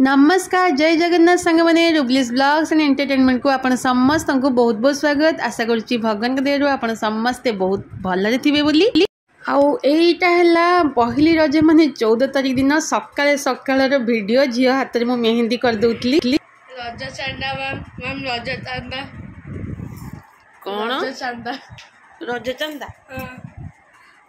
ନମସ୍କାର, ଜୟ ଜଗନ୍ନାଥ ସାଙ୍ଗମାନେ। ରୁବଲିସ୍ blogs and ଏଣ୍ଟରଟେନମେଣ୍ଟକୁ ଆପଣ ସମସ୍ତଙ୍କୁ ବହୁତ ବହୁତ ସ୍ୱାଗତ। ଆଶା କରୁଛି ଭଗବାନଙ୍କ ଦୟାରୁ ଆପଣ ସମସ୍ତେ ବହୁତ ଭଲରେ ଥିବେ ବୋଲି। ଆଉ ଏଇଟା ହେଲା ପହିଲି ରଜ, ମାନେ 14 ତାରିଖ ଦିନ ସକାଳେ ସକାଳର ଭିଡ଼ିଓ। ଝିଅ ହାତରେ ମୁଁ ମେହେନ୍ଦି କରିଦେଉଥିଲି। ରଜ ଚାନ୍ଦା ମ୍ୟାମ୍, ମ୍ୟାମ୍, ରଜ ଚାନ୍ଦା। କ'ଣ? ରଜ ଚାନ୍ଦା। ରଜ ଚାନ୍ଦା?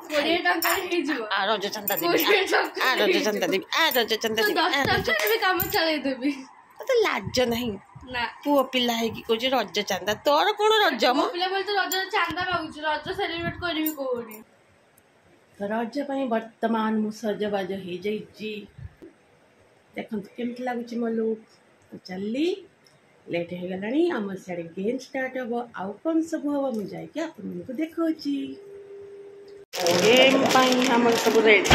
20 ଟଙ୍କାରେ ହେଇଯିବ। ଆ ରଜ ଚାନ୍ଦା ଦେବି। 20 ଟଙ୍କା। ଆ ରଜ ଚାନ୍ଦା ଦେବି, ଆ ରଜ ଚାନ୍ଦା ଦେବି। 10 ଆ ରଜ ଟଙ୍କାରେ ବି କାମ ଚଳେଇଦେବି। ତତେ ଲାଜ ନାହିଁ? ନା। ପୁଅ ପିଲା ହେଇକି କହୁଛି ରଜ ଚାନ୍ଦା। ତୋର କ'ଣ ରଜ ମ? ପୁଅ ପିଲା ବୋଲି ତ ରଜର ଚାନ୍ଦା ମାଗୁଛୁ। ରଜ ସେଲିବ୍ରେଟ କରିବି କୋଉଠି? ତ ରଜ ପାଇଁ ବର୍ତ୍ତମାନ ମୁଁ ସଜବାଜ ହେଇଯାଇଛି। ଦେଖନ୍ତୁ କେମିତି ଲାଗୁଛି ମୋ ଲୁକ୍। ତ ଚାଲି, ଲେଟ୍ ହେଇଗଲାଣି। ଆମର ସିଆଡ଼େ ଗେମ୍ ଷ୍ଟାର୍ଟ ହେବ, ଆଉ କ'ଣ ସବୁ ହେବ ମୁଁ ଯାଇକି ଆପଣମାନଙ୍କୁ ଦେଖାଉଛି। ଗେମ୍ ପାଇଁ ଆମର ସବୁ ରେଡ଼ି।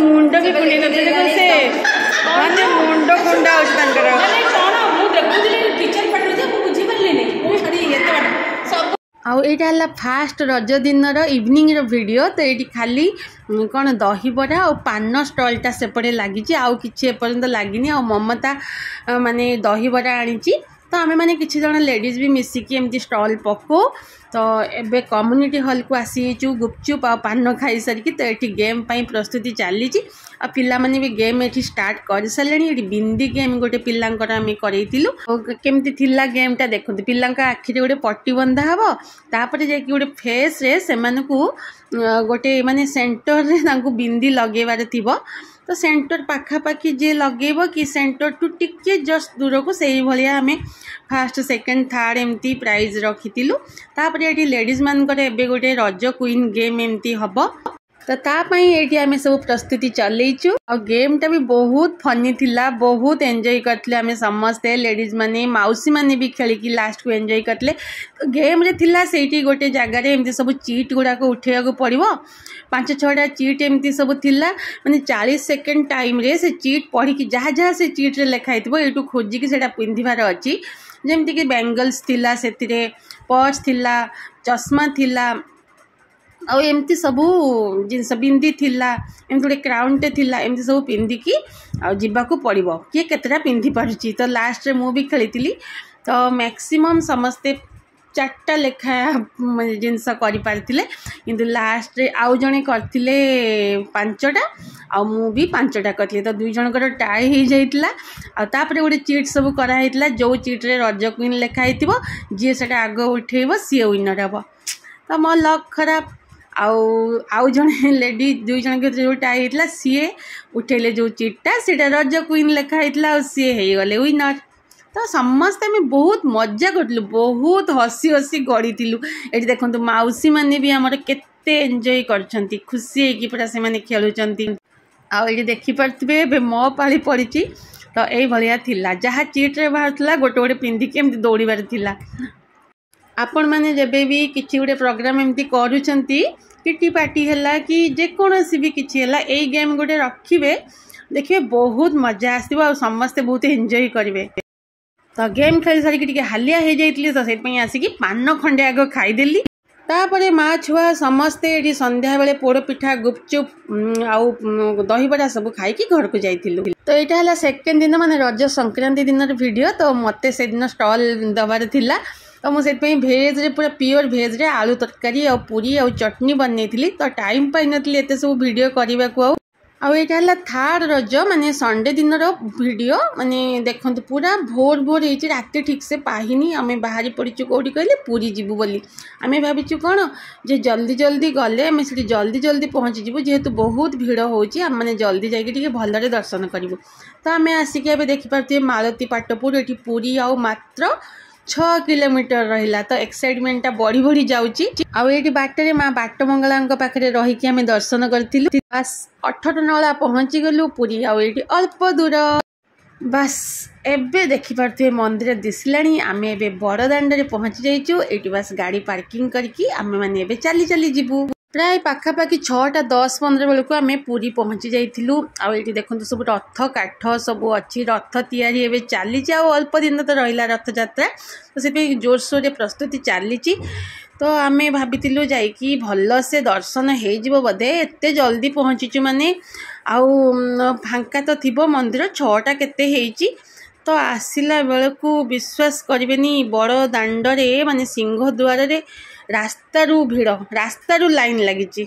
ମୁଣ୍ଡ ବି କୁଣ୍ଡେଇ ନଥିଲେ ଦେଖ, ସେ ମାନେ ମୁଣ୍ଡ କୁଣ୍ଡା ହଉଛି ତାଙ୍କର। କଣ ମୁଁ ଦେଖୁଥିଲି ଟିଚର ପାଟିରୁ ଯେ ମୁଁ ବୁଝିପାରିଲିନି, ମୁଁ ଛାଡ଼ି ଏତେ ବାଟ ସବୁ। ଆଉ ଏଇଟା ହେଲା ଫାଷ୍ଟ ରଜ ଦିନର ଇଭିନିଂର ଭିଡ଼ିଓ। ତ ଏଇଠି ଖାଲି କ'ଣ ଦହିବରା ଆଉ ପାନ ଷ୍ଟଲ୍ଟା ସେପଟେ ଲାଗିଛି, ଆଉ କିଛି ଏପର୍ଯ୍ୟନ୍ତ ଲାଗିନି। ଆଉ ମମତା ମାନେ ଦହିବରା ଆଣିଛି। ତ ଆମେମାନେ କିଛି ଜଣ ଲେଡ଼ିଜ୍ ବି ମିଶିକି ଏମିତି ଷ୍ଟଲ୍ ପକାଉ। ତ ଏବେ କମ୍ୟୁନିଟି ହଲ୍କୁ ଆସିଯାଇଛୁ ଗୁପଚୁପ୍ ଆଉ ପାନ ଖାଇସାରିକି। ତ ଏଠି ଗେମ୍ ପାଇଁ ପ୍ରସ୍ତୁତି ଚାଲିଛି, ଆଉ ପିଲାମାନେ ବି ଗେମ୍ ଏଠି ଷ୍ଟାର୍ଟ କରିସାରିଲେଣି। ଏଠି ବିନ୍ଦି ଗେମ୍ ଗୋଟେ ପିଲାଙ୍କର ଆମେ କରେଇଥିଲୁ। ଆଉ କେମିତି ଥିଲା ଗେମ୍ଟା ଦେଖନ୍ତୁ। ପିଲାଙ୍କ ଆଖିରେ ଗୋଟେ ପଟି ବନ୍ଧା ହେବ, ତାପରେ ଯାଇକି ଗୋଟେ ଫେସ୍ରେ ସେମାନଙ୍କୁ ଗୋଟେ ମାନେ ସେଣ୍ଟରରେ ତାଙ୍କୁ ବିନ୍ଦି ଲଗେଇବାର ଥିବ। ତ ସେଣ୍ଟର ପାଖାପାଖି ଯିଏ ଲଗେଇବ କି ସେଣ୍ଟରଠୁ ଟିକେ ଜଷ୍ଟ ଦୂରକୁ, ସେଇଭଳିଆ ଆମେ ଫାଷ୍ଟ, ସେକେଣ୍ଡ, ଥାର୍ଡ଼ ଏମିତି ପ୍ରାଇଜ୍ ରଖିଥିଲୁ। ତାପରେ ଏଠି ଲେଡ଼ିଜ୍ ମାନଙ୍କର ଏବେ ଗୋଟେ ରଜ କୁଇନ୍ ଗେମ୍ ଏମିତି ହେବ। ତ ତା ପାଇଁ ଏଇଠି ଆମେ ସବୁ ପ୍ରସ୍ତୁତି ଚଲେଇଛୁ। ଆଉ ଗେମ୍ଟା ବି ବହୁତ ଫନି ଥିଲା, ବହୁତ ଏନ୍ଜୟ କରିଥିଲେ ଆମେ ସମସ୍ତେ ଲେଡ଼ିଜ୍ ମାନେ, ମାଉସୀ ମାନେ ବି ଖେଳିକି ଲାଷ୍ଟକୁ ଏନ୍ଜୟ କରିଥିଲେ। ତ ଗେମ୍ରେ ଥିଲା ସେଇଠି ଗୋଟେ ଜାଗାରେ ଏମିତି ସବୁ ଚିଟ୍ ଗୁଡ଼ାକ ଉଠେଇବାକୁ ପଡ଼ିବ। 5 6ଟା ଚିଟ୍ ଏମିତି ସବୁ ଥିଲା, ମାନେ 40 ସେକେଣ୍ଡ ଟାଇମ୍ରେ ସେ ଚିଟ୍ ପଢ଼ିକି ଯାହା ଯାହା ସେ ଚିଟ୍ରେ ଲେଖା ହେଇଥିବ ଏଇଠୁ ଖୋଜିକି ସେଇଟା ପିନ୍ଧିବାର ଅଛି। ଯେମିତିକି ବ୍ୟାଙ୍ଗଲ୍ସ ଥିଲା, ସେଥିରେ ପର୍ସ ଥିଲା, ଚଷମା ଥିଲା, ଆଉ ଏମିତି ସବୁ ଜିନିଷ, ବିନ୍ଦି ଥିଲା, ଏମିତି ଗୋଟେ କ୍ରାଉନ୍ଟେ ଥିଲା। ଏମିତି ସବୁ ପିନ୍ଧିକି ଆଉ ଯିବାକୁ ପଡ଼ିବ, କିଏ କେତେଟା ପିନ୍ଧି ପାରୁଛି। ତ ଲାଷ୍ଟରେ ମୁଁ ବି ଖେଳିଥିଲି। ତ ମ୍ୟାକ୍ସିମମ୍ ସମସ୍ତେ 4ଟା ଲେଖା ଜିନିଷ କରିପାରିଥିଲେ, କିନ୍ତୁ ଲାଷ୍ଟରେ ଆଉ ଜଣେ କରିଥିଲେ 5ଟା, ଆଉ ମୁଁ ବି 5ଟା କରିଥିଲି। ତ 2 ଜଣଙ୍କର ଟାଇ ହେଇଯାଇଥିଲା। ଆଉ ତାପରେ ଗୋଟେ ଚିଟ୍ ସବୁ କରାହେଇଥିଲା, ଯେଉଁ ଚିଟ୍ରେ ରଜ କୁଇନ୍ ଲେଖା ହେଇଥିବ, ଯିଏ ସେଇଟା ଆଗ ଉଠେଇବ ସିଏ ୱିନର୍ ହେବ। ତ ମୋ ଲକ୍ ଖରାପ, ଆଉ ଜଣେ ଲେଡ଼ି, 2 ଜଣଙ୍କ ଭିତରେ ଯେଉଁ ଟାଇ ହେଇଥିଲା, ସିଏ ଉଠେଇଲେ ଯେଉଁ ଚିଟ୍ଟା, ସେଇଟା ରଜ କୁଇନ୍ ଲେଖା ହେଇଥିଲା, ଆଉ ସିଏ ହେଇଗଲେ ୱିନର୍। ତ ସମସ୍ତେ ଆମେ ବହୁତ ମଜା କରିଥିଲୁ, ବହୁତ ହସି ହସି ଗଡ଼ିଥିଲୁ। ଏଠି ଦେଖନ୍ତୁ ମାଉସୀ ମାନେ ବି ଆମର କେତେ ଏନ୍ଜୟ କରିଛନ୍ତି, ଖୁସି ହେଇକି ପୁରା ସେମାନେ ଖେଳୁଛନ୍ତି। ଆଉ ଏଇଠି ଦେଖିପାରୁଥିବେ ଏବେ ମୋ ପାଳି ପଡ଼ିଛି। ତ ଏଇଭଳିଆ ଥିଲା, ଯାହା ଚିଟ୍ରେ ବାହାରୁଥିଲା ଗୋଟେ ଗୋଟେ ପିନ୍ଧିକି ଏମିତି ଦୌଡ଼ିବାର ଥିଲା। ଆପଣମାନେ ଯେବେ ବି କିଛି ଗୋଟେ ପ୍ରୋଗ୍ରାମ୍ ଏମିତି କରୁଛନ୍ତି, କିଟି ପାର୍ଟି ହେଲା କି ଯେକୌଣସି ବି କିଛି ହେଲା, ଏଇ ଗେମ୍ ଗୋଟେ ରଖିବେ, ଦେଖିବେ ବହୁତ ମଜା ଆସିବ ଆଉ ସମସ୍ତେ ବହୁତ ଏନ୍ଜୟ କରିବେ। ତ ଗେମ୍ ଖେଳି ସାରିକି ଟିକେ ହାଲିଆ ହେଇଯାଇଥିଲି, ତ ସେଥିପାଇଁ ଆସିକି ପାନ ଖଣ୍ଡେ ଆଗ ଖାଇଦେଲି। ତାପରେ ମା ଛୁଆ ସମସ୍ତେ ଏଠି ସନ୍ଧ୍ୟାବେଳେ ପୋଡ଼ପିଠା, ଗୁପଚୁପ୍ ଆଉ ଦହିବରା ସବୁ ଖାଇକି ଘରକୁ ଯାଇଥିଲୁ। ତ ଏଇଟା ହେଲା ସେକେଣ୍ଡ ଦିନ, ମାନେ ରଜ ସଂକ୍ରାନ୍ତି ଦିନର ଭିଡ଼ିଓ। ତ ମୋତେ ସେଦିନ ଷ୍ଟଲ୍ ଦେବାର ଥିଲା, ତ ମୁଁ ସେଥିପାଇଁ ଭେଜ୍ରେ, ପୁରା ପିଓର ଭେଜ୍ରେ ଆଳୁ ତରକାରୀ ଆଉ ପୁରୀ ଆଉ ଚଟଣି ବନେଇଥିଲି। ତ ଟାଇମ୍ ପାଇନଥିଲି ଏତେ ସବୁ ଭିଡ଼ିଓ କରିବାକୁ। ଆଉ ଏଇଟା ହେଲା ଥାର୍ଡ଼ ରଜ, ମାନେ ସଣ୍ଡେ ଦିନର ଭିଡ଼ିଓ। ମାନେ ଦେଖନ୍ତୁ ପୁରା ଭୋର ଭୋର ହେଇଛି, ରାତି ଠିକ୍ସେ ପାହିନି, ଆମେ ବାହାରି ପଡ଼ିଛୁ। କେଉଁଠି କହିଲେ? ପୁରୀ ଯିବୁ ବୋଲି। ଆମେ ଭାବିଛୁ କ'ଣ ଯେ ଜଲ୍ଦି ଜଲ୍ଦି ଗଲେ ଆମେ ସେଠି ଜଲ୍ଦି ଜଲ୍ଦି ପହଞ୍ଚିଯିବୁ, ଯେହେତୁ ବହୁତ ଭିଡ଼ ହେଉଛି, ଆମେମାନେ ଜଲ୍ଦି ଯାଇକି ଟିକେ ଭଲରେ ଦର୍ଶନ କରିବୁ। ତ ଆମେ ଆସିକି ଏବେ ଦେଖିପାରୁଥିବେ ମାଳତୀ ପାଟପୁର। ଏଠି ପୁରୀ ଆଉ ମାତ୍ର 6 କିଲୋମିଟର ରହିଲା, ତ ଏକ୍ସାଇଟମେଣ୍ଟଟା ବଢ଼ି ବଢ଼ି ଯାଉଛି। ଆଉ ଏଇଠି ବାଟରେ ମା ବାଟମଙ୍ଗଳାଙ୍କ ପାଖରେ ରହିକି ଆମେ ଦର୍ଶନ କରିଥିଲୁ। ବାସ୍, 18 ନଳା ପହଞ୍ଚିଗଲୁ, ପୁରୀ ଆଉ ଏଇଠି ଅଳ୍ପ ଦୂର। ବାସ୍, ଏବେ ଦେଖିପାରୁଥିବେ ମନ୍ଦିର ଦିଶିଲାଣି। ଆମେ ଏବେ ବଡ଼ ଦାଣ୍ଡରେ ପହଞ୍ଚି ଯାଇଛୁ। ଏଇଠି ବାସ୍ ଗାଡ଼ି ପାର୍କିଂ କରିକି ଆମେମାନେ ଏବେ ଚାଲି ଚାଲି ଯିବୁ। ପ୍ରାୟ ପାଖାପାଖି 6ଟା 10 15 ବେଳକୁ ଆମେ ପୁରୀ ପହଞ୍ଚି ଯାଇଥିଲୁ। ଆଉ ଏଇଠି ଦେଖନ୍ତୁ ସବୁ ରଥ କାଠ ସବୁ ଅଛି, ରଥ ତିଆରି ଏବେ ଚାଲିଛି। ଆଉ ଅଳ୍ପ ଦିନ ତ ରହିଲା ରଥଯାତ୍ରା, ତ ସେଥିପାଇଁ ଜୋରସୋରରେ ପ୍ରସ୍ତୁତି ଚାଲିଛି। ତ ତ ଆମେ ଭାବିଥିଲୁ ଯାଇକି ଭଲସେ ଦର୍ଶନ ହେଇଯିବ ବୋଧେ, ଏତେ ଜଲ୍ଦି ପହଞ୍ଚିଛୁ ମାନେ ଆଉ ଫାଙ୍କା ତ ଥିବ ମନ୍ଦିର। 6ଟା କେତେ ହେଇଛି। ତ ଆସିଲା ବେଳକୁ ବିଶ୍ୱାସ କରିବେନି, ବଡ଼ ଦାଣ୍ଡରେ ମାନେ ସିଂହ ଦ୍ୱାରରେ ରାସ୍ତାରୁ ଭିଡ଼, ରାସ୍ତାରୁ ଲାଇନ୍ ଲାଗିଛି।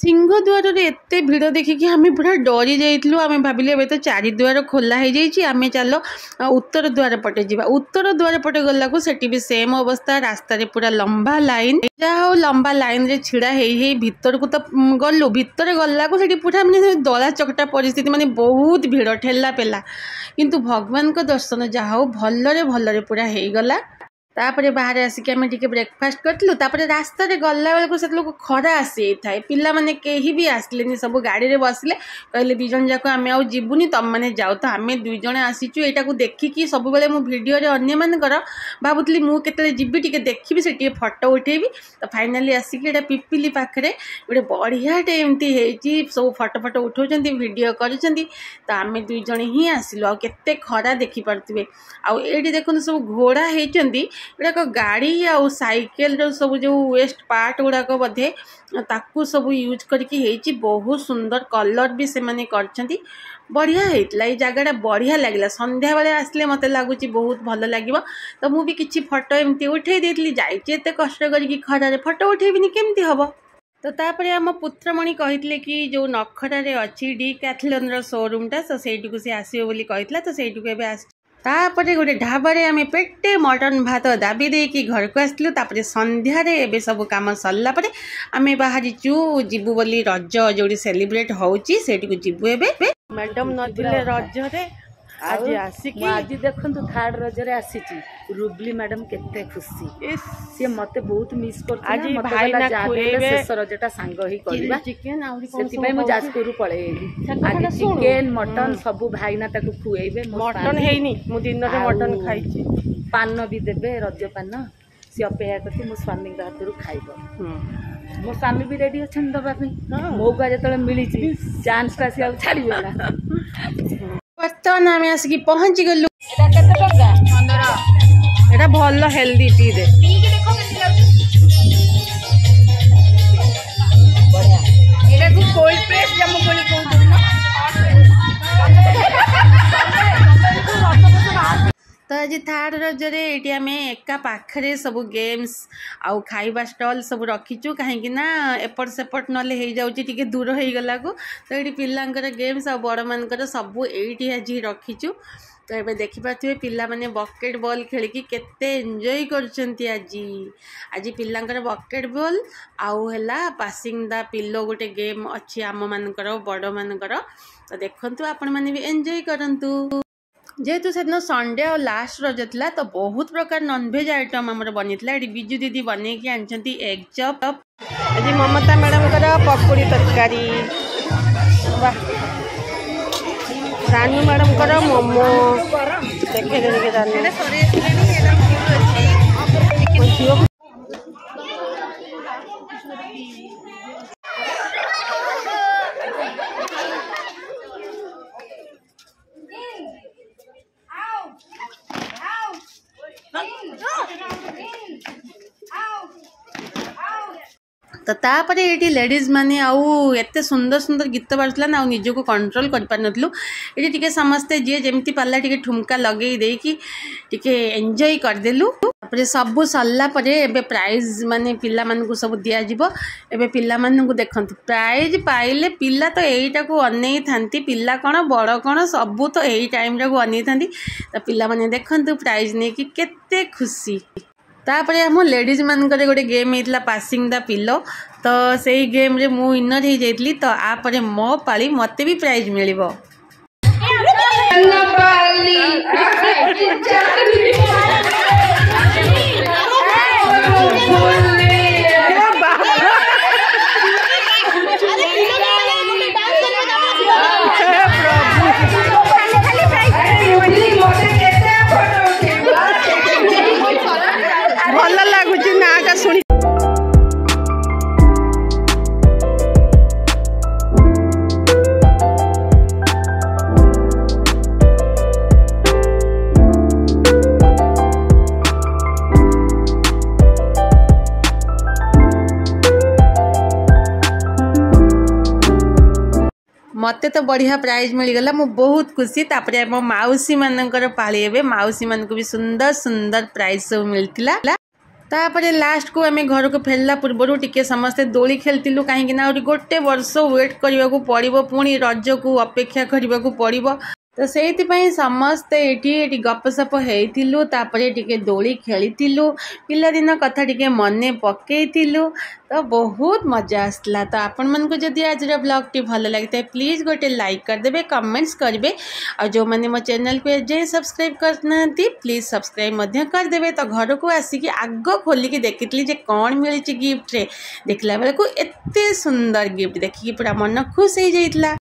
ସିଂହଦ୍ୱାରରେ ଏତେ ଭିଡ଼ ଦେଖିକି ଆମେ ପୁରା ଡରି ଯାଇଥିଲୁ। ଆମେ ଭାବିଲୁ ଏବେ ତ ଚାରିଦ୍ୱାର ଖୋଲା ହେଇଯାଇଛି, ଆମେ ଚାଲ ଉତ୍ତର ଦ୍ୱାର ପଟେ ଯିବା। ଉତ୍ତର ଦ୍ୱାର ପଟେ ଗଲାକୁ ସେଠି ବି ସେମ୍ ଅବସ୍ଥା, ରାସ୍ତାରେ ପୁରା ଲମ୍ବା ଲାଇନ୍। ଯାହା ହଉ ଲମ୍ବା ଲାଇନ୍ରେ ଛିଡ଼ା ହେଇ ହେଇ ଭିତରକୁ ତ ଗଲୁ। ଭିତରେ ଗଲାକୁ ସେଠି ପୁରା ମାନେ ଦଳା ଚକଟା ପରିସ୍ଥିତି, ମାନେ ବହୁତ ଭିଡ଼, ଠେଲା ପେଲା। କିନ୍ତୁ ଭଗବାନଙ୍କ ଦର୍ଶନ ଯାହା ହଉ ଭଲରେ ଭଲରେ ପୁରା ହେଇଗଲା। ତାପରେ ବାହାରେ ଆସିକି ଆମେ ଟିକେ ବ୍ରେକଫାଷ୍ଟ କରିଥିଲୁ। ତାପରେ ରାସ୍ତାରେ ଗଲାବେଳକୁ ସେତେବେଳକୁ ଖରା ଆସିଯାଇଥାଏ। ପିଲାମାନେ କେହି ବି ଆସିଲେନି, ସବୁ ଗାଡ଼ିରେ ବସିଲେ। କହିଲେ 2 ଜଣ ଯାକ ଆମେ ଆଉ ଯିବୁନି, ତମମାନେ ଯାଅ। ତ ଆମେ 2 ଜଣ ଆସିଛୁ ଏଇଟାକୁ ଦେଖିକି। ସବୁବେଳେ ମୁଁ ଭିଡ଼ିଓରେ ଅନ୍ୟମାନଙ୍କର ଭାବୁଥିଲି ମୁଁ କେତେବେଳେ ଯିବି ଟିକେ ଦେଖିବି, ସେ ଟିକେ ଫଟୋ ଉଠେଇବି। ତ ଫାଇନାଲି ଆସିକି ଏଇଟା ପିପିଲି ପାଖରେ ଗୋଟେ ବଢ଼ିଆଟେ ଏମିତି ହେଇଛି, ସବୁ ଫଟୋ ଫଟୋ ଉଠାଉଛନ୍ତି, ଭିଡ଼ିଓ କରୁଛନ୍ତି। ତ ଆମେ 2 ଜଣ ହିଁ ଆସିଲୁ। ଆଉ କେତେ ଖରା ଦେଖିପାରୁଥିବେ। ଆଉ ଏଇଠି ଦେଖନ୍ତୁ ସବୁ ଘୋଡ଼ା ହେଇଛନ୍ତି, ଏଗୁଡ଼ାକ ଗାଡ଼ି ଆଉ ସାଇକେଲର ସବୁ ଯେଉଁ ୱେଷ୍ଟ ପାର୍ଟ ଗୁଡ଼ାକ ବୋଧେ ତାକୁ ସବୁ ୟୁଜ୍ କରିକି ହେଇଛି। ବହୁତ ସୁନ୍ଦର କଲର୍ ବି ସେମାନେ କରିଛନ୍ତି, ବଢ଼ିଆ ହେଇଥିଲା ଏଇ ଜାଗାଟା, ବଢ଼ିଆ ଲାଗିଲା। ସନ୍ଧ୍ୟାବେଳେ ଆସିଲେ ମୋତେ ଲାଗୁଛି ବହୁତ ଭଲ ଲାଗିବ। ତ ମୁଁ ବି କିଛି ଫଟୋ ଏମିତି ଉଠେଇ ଦେଇଥିଲି। ଯାଇଛି ଏତେ କଷ୍ଟ କରିକି ଖରାରେ, ଫଟୋ ଉଠେଇବିନି କେମିତି ହେବ? ତ ତାପରେ ଆମ ପୁତ୍ରମଣି କହିଥିଲେ କି ଯେଉଁ ନଖରାରେ ଅଛି ଡିକାଥଲନ୍ର ସୋରୁମ୍ଟା, ତ ସେଇଠିକୁ ସେ ଆସିବ ବୋଲି କହିଥିଲା। ତ ସେଇଠିକୁ ଏବେ ଆସିଛି। ତାପରେ ଗୋଟେ ଢାବାରେ ଆମେ ପେଟେ ମଟନ୍ ଭାତ ଦାବି ଦେଇକି ଘରକୁ ଆସିଥିଲୁ। ତାପରେ ସନ୍ଧ୍ୟାରେ ଏବେ ସବୁ କାମ ସରିଲା ପରେ ଆମେ ବାହାରିଛୁ ଯିବୁ ବୋଲି ରଜ ଯେଉଁଠି ସେଲିବ୍ରେଟ୍ ହେଉଛି ସେଇଠିକୁ ଯିବୁ ଏବେ। ମ୍ୟାଡ଼ାମ୍ ନଥିଲେ ରଜରେ, ଆଜି ଆସିକି ଆଜି ଦେଖନ୍ତୁ ଥାର୍ଡ ରଜରେ ଆସିଛି। ରୁବଲି ମ୍ୟାଡାମ କେତେ ଖୁସି, ସିଏ ମତେ ବହୁତ ମିସ୍ କରୁଥିଲା। ଆଜି ଭାଇନା ଖୁଏଇବେ ଶେଷ ରଜଟା ସାଙ୍ଗ ହେଇ କରିବା ଚିକେନ, ସେଥିପାଇଁ ମୁଁ ଯାଜପୁରରୁ ପଳେଇ ଆଇଲି। ଆଜି ଚିକେନ ମଟନ ସବୁ ଭାଇନା ତାକୁ ଖୁଏଇବେ। ମଟନ ହେଇନି, ମୁଁ ଦିନରେ ମଟନ ଖାଇଛି। ପାନ ବି ଦେବେ, ରଜ ପାନ। ସିଏ ଅପେକ୍ଷା କରିଛି ମୋ ସ୍ୱାମୀଙ୍କ ହାତରୁ ଖାଇବ। ମୋ ସ୍ୱାମୀ ବି ରେଡି ଅଛନ୍ତି ଦବା ପାଇଁ। ମଉକା ଯେତେବେଳେ ମିଳିଛି ଚାନ୍ସଟା ସିଏ ଆଉ ଛାଡ଼ିବେ ନା। ବର୍ତ୍ତମାନ ଆମେ ଆସିକି ପହଞ୍ଚି ଗଲୁ। ଏଟା ଭଲ ହେଲ୍ଦି, ପିଇଦେ। ଏଟାକୁ କୋଲ୍ଡ ପ୍ରେସ୍ ଜାମୁକୋଳି କହୁଛନ୍ତି ନା? ତ ଆଜି ଥାର୍ଡ଼ ରଜରେ ଏଇଠି ଆମେ ଏକା ପାଖରେ ସବୁ ଗେମ୍ସ ଆଉ ଖାଇବା ଷ୍ଟଲ୍ ସବୁ ରଖିଛୁ, କାହିଁକି ନା ଏପଟ ସେପଟ ନହେଲେ ହେଇଯାଉଛି ଟିକେ ଦୂର ହେଇଗଲାକୁ। ତ ଏଇଠି ପିଲାଙ୍କର ଗେମ୍ସ ଆଉ ବଡ଼ମାନଙ୍କର ସବୁ ଏଇଠି ଆଜି ରଖିଛୁ। ତ ଏବେ ଦେଖିପାରୁଥିବେ ପିଲାମାନେ ବକେଟ୍ ବଲ୍ ଖେଳିକି କେତେ ଏନ୍ଜୟ କରୁଛନ୍ତି ଆଜି। ଆଜି ପିଲାଙ୍କର ବକେଟ୍ ବଲ୍ ଆଉ ହେଲା ପାସିଂ ଦା ପିଲୋ ଗୋଟେ ଗେମ୍ ଅଛି ଆମମାନଙ୍କର ବଡ଼ମାନଙ୍କର। ତ ଦେଖନ୍ତୁ ଆପଣମାନେ ବି ଏନ୍ଜୟ କରନ୍ତୁ। ଯେହେତୁ ସେଦିନ ସଣ୍ଡେ ଆଉ ଲାଷ୍ଟ ରଜ ଥିଲା, ତ ବହୁତ ପ୍ରକାର ନନଭେଜ୍ ଆଇଟମ୍ ଆମର ବନିଥିଲା। ଏଠି ବିଜୁ ଦିଦି ବନେଇକି ଆଣିଛନ୍ତି ଏଗ୍ ଚପ୍। ଆଜି ମମତା ମ୍ୟାଡ଼ାମଙ୍କର ପକୁଡ଼ି ତରକାରୀ, ବାহ! ରାନୁ ମ୍ୟାଡ଼ାମଙ୍କର ମୋମୋ ଦେଖେଇଦେବେ କି ରାନୁ ଝିଅ। ତ ତାପରେ ଏଇଠି ଲେଡ଼ିଜ୍ ମାନେ ଆଉ ଏତେ ସୁନ୍ଦର ସୁନ୍ଦର ଗୀତ ବାଜୁଥିଲା ନା, ଆଉ ନିଜକୁ କଣ୍ଟ୍ରୋଲ୍ କରିପାରିନଥିଲୁ। ଏଠି ଟିକେ ସମସ୍ତେ ଯିଏ ଯେମିତି ପାରିଲା ଟିକେ ଠୁମକା ଲଗେଇ ଦେଇକି ଟିକେ ଏନ୍ଜୟ କରିଦେଲୁ। ତାପରେ ସବୁ ସରିଲା ପରେ ଏବେ ପ୍ରାଇଜ୍ ମାନେ ପିଲାମାନଙ୍କୁ ସବୁ ଦିଆଯିବ। ଏବେ ପିଲାମାନଙ୍କୁ ଦେଖନ୍ତୁ ପ୍ରାଇଜ୍ ପାଇଲେ, ପିଲା ତ ଏଇଟାକୁ ଅନେଇଥାନ୍ତି। ପିଲା କ'ଣ ବଡ଼ କ'ଣ ସବୁ ତ ଏଇ ଟାଇମ୍ଟାକୁ ଅନେଇଥାନ୍ତି। ତ ପିଲାମାନେ ଦେଖନ୍ତୁ ପ୍ରାଇଜ୍ ନେଇକି କେତେ ଖୁସି। ତାପରେ ଆମ ଲେଡ଼ିଜ୍ ମାନଙ୍କର ଗୋଟେ ଗେମ୍ ହେଇଥିଲା ପାସିଂ ଦା ପିଲୋ। ତ ସେଇ ଗେମ୍ରେ ମୁଁ ୱିନର୍ ହେଇଯାଇଥିଲି। ତ ଆପରେ ମୋ ପାଳି, ମୋତେ ବି ପ୍ରାଇଜ୍ ମିଳିବ। ଭଲ ଲାଗୁଛି ନାଁଟା ଶୁଣି। ମୋତେ ତ ବଢ଼ିଆ ପ୍ରାଇଜ୍ ମିଳିଗଲା, ମୁଁ ବହୁତ ଖୁସି। ତାପରେ ଆମ ମାଉସୀମାନଙ୍କର ପାଳି, ଏବେ ମାଉସୀମାନଙ୍କୁ ବି ସୁନ୍ଦର ସୁନ୍ଦର ପ୍ରାଇଜ୍ ସବୁ ମିଳିଥିଲା। ତାପରେ ଲାଷ୍ଟକୁ ଆମେ ଘରକୁ ଫେରିଲା ପୂର୍ବରୁ ଟିକେ ସମସ୍ତେ ଦୋଳି ଖେଳିଥିଲୁ, କାହିଁକି ନା ଆହୁରି ଗୋଟେ ବର୍ଷ ୱେଟ୍ କରିବାକୁ ପଡ଼ିବ, ପୁଣି ରଜକୁ ଅପେକ୍ଷା କରିବାକୁ ପଡ଼ିବ। ତ ସେଇଥିପାଇଁ ସମସ୍ତେ ଏଠି ଗପସପ ହେଇଥିଲୁ, ତାପରେ ଟିକେ ଦୋଳି ଖେଳିଥିଲୁ, ପିଲାଦିନ କଥା ଟିକେ ମନେ ପକେଇଥିଲୁ। ତ ବହୁତ ମଜା ଆସିଥିଲା। ତ ଆପଣମାନଙ୍କୁ ଯଦି ଆଜିର ବ୍ଲଗ୍ଟି ଭଲ ଲାଗିଥାଏ, ପ୍ଲିଜ୍ ଗୋଟେ ଲାଇକ୍ କରିଦେବେ, କମେଣ୍ଟସ୍ କରିବେ, ଆଉ ଯେଉଁମାନେ ମୋ ଚ୍ୟାନେଲକୁ ଏଯାଏଁ ସବସ୍କ୍ରାଇବ୍ କରିନାହାନ୍ତି, ପ୍ଲିଜ୍ ସବସ୍କ୍ରାଇବ୍ ମଧ୍ୟ କରିଦେବେ। ତ ଘରକୁ ଆସିକି ଆଗ ଖୋଲିକି ଦେଖିଥିଲି ଯେ କ'ଣ ମିଳିଛି ଗିଫ୍ଟରେ। ଦେଖିଲା ବେଳକୁ ଏତେ ସୁନ୍ଦର ଗିଫ୍ଟ ଦେଖିକି ପୁରା ମନ ଖୁସି ହେଇଯାଇଥିଲା।